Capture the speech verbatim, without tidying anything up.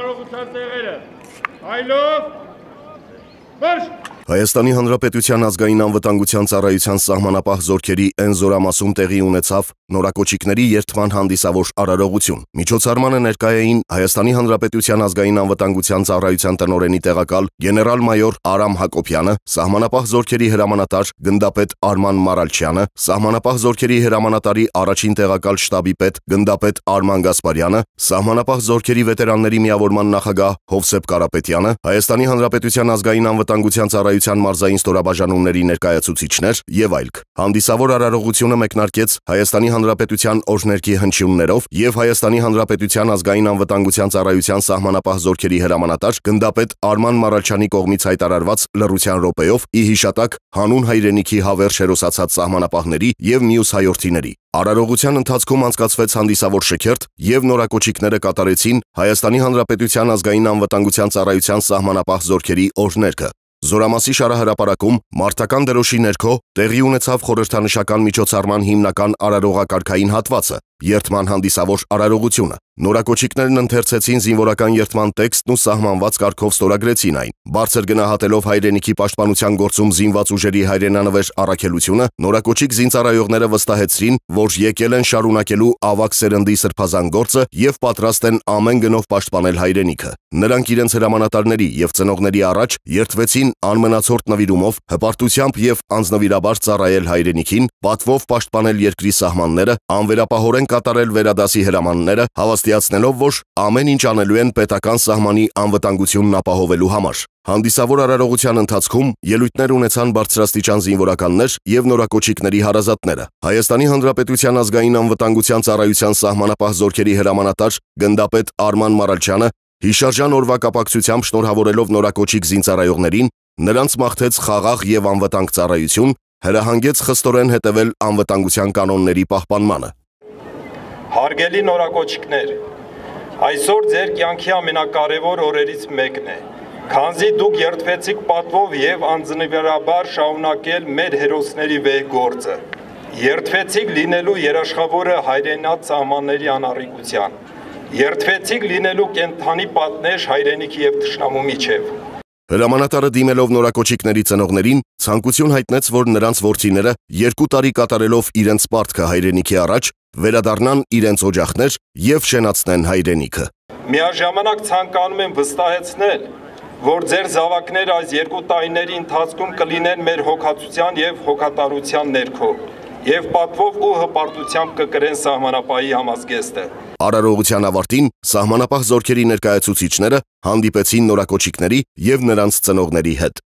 արարողության տեղերը։ Այլով Marş! Հայաստանի Հանրապետության ազգային անվտանգության ծառայության սահմանապահ զորքերի Էն զորամասում տեղի ունեցավ նորակոչիկների երթման հանդիսավոր արարողություն։ Միջոցառմանը ներկայ էին Հայաստանի Հանրապետության ազգային անվտանգության ծառայության տնօրենի տեղակալ գեներալ-մայոր Արամ Հակոբյանը, սահմանապահ զորքերի հրամանատար գնդապետ Արման Մարալչյանը, սահմանապահ զորքերի հրամանատարի առաջին տեղակալ շտաբի պետ գնդապետ Արման Գասպարյանը, սահմանապահ զորքերի վետերանների միավորման նախագահ Հովսեփ Կարապետյանը, Հայաստանի Հանրապետության ազգային անվտանգության ծառայության մարզային ստորաբաժանումների ներկայացուցիչներ եւ այլք։ Հանդիսավոր արարողությունը մեկնարկեց Հայաստանի Հանրապետության օրհներգի հնչյուններով եւ Հայաստանի Հանրապետության ազգային անվտանգության ծառայության սահմանապահ զորքերի հրամանատար գնդապետ Արման Մարալչյանի կողմից հայտարարված լռության րոպեով ի հիշատակ հանուն հայրենիքի հավերժ հերոսացած սահմանապահների եւ մյուս հայորդիների։ Արարողության ընթացքում անցկացվեց հանդիսավոր շքերթ եւ նորակոչիկները կատարեցին Հայաստանի Հանրապետության ազգային անվտանգության ծառայության սահմանապահ զորքերի օրհներգը։ Զորամասի շարահրապարակում մարտական դրոշի ներքո տեղի ունեցավ խորհրդանշական միջոցառման հիմնական արարողակարգային հատվածը՝ երթման հանդիսավոր արարողությունը։ Նորակոչիկներն ընթերցեցին զինվորական երթման տեքստն ու սահմանված կարգով ստորագրեցին այն։ Բարձր գնահատելով հայրենիքի պաշտպանության գործում զինված ուժերի հայրենանվեր առաքելությունը, նորակոչիկ զինծառայողները վստահեցրին, որ եկել են շարունակելու ավագ սերնդի սրբազան գործը եւ պատրաստ են ամեն գնով պաշտպանել հայրենիքը։ Նրանք իրենց հրամանատարների եւ ծնողների առաջ երթվեցին անմնացորդ նվիրումով, հպարտությամբ եւ անձնվիրաբար ծառայել հայրենիքին, պատվով պաշտպանել երկրի սահմանները, անվերապահորեն կատարել վերադասի հրամանները, հավաստիացնելով, որ ամեն ինչ անելու են պետական սահմանի անվտանգությունն ապահովելու համար։ Հանդիսավոր արարողության ընթացքում ելույթներ ունեցան բարձրաստիճան զինվորականներ եւ նորակոչիկների հարազատները։ Հայաստանի Հանրապետության ազգային անվտանգության ծառայության սահմանապահ զորքերի հրամանատար գնդապետ Արման Մարալչյանը հիշարժան օրվա կապակցությամբ շնորհավորելով նորակոչիկ զինծառայողներին, նրանց մաղթեց խաղաղ եւ անվտանգ ծառայություն, հրահանգեց խստորեն հետևել անվտանգության կանոնների պահպանմանը։ Հարգելի նորակոչիկներ, այսօր ձեր կյանքի ամենակարևոր օրերից մեկն է, քանզի դուք երթվեցիք պատվով եւ անձնվիրաբար շարունակել մեր հերոսների վեհ գործը։ Երթվեցիք լինելու երաշխավորը հայրենաց սահմանների անառիկության։ Երթվեցիք լինելու կենթանի պատնեշ հայրենիքի եւ թշնամու միջև։ Հրամանատարը դիմելով նորակոչիկների ծնողներին ցանկություն հայտնեց, որ նրանց որդիները երկու տարի կատարելով իրենց պարտքը հայրենիքի առաջ վերադառնան իրենց օջախներ եւ շենացնեն հայրենիքը։ Միաժամանակ ցանկանում եմ վստահեցնել, որ ձեր զավակները այս երկու տարիների ընթացքում կլինեն մեր հոգացության եւ հոգատարության ներքո եւ պատվով ու հպարտությամբ կկրեն սահմանապահի համազգեստը։ Արարողության ավարտին սահմանապահ զորքերի ներկայացուցիչները հանդիպեցին նորակոչիկների եւ նրանց ծնողների հետ։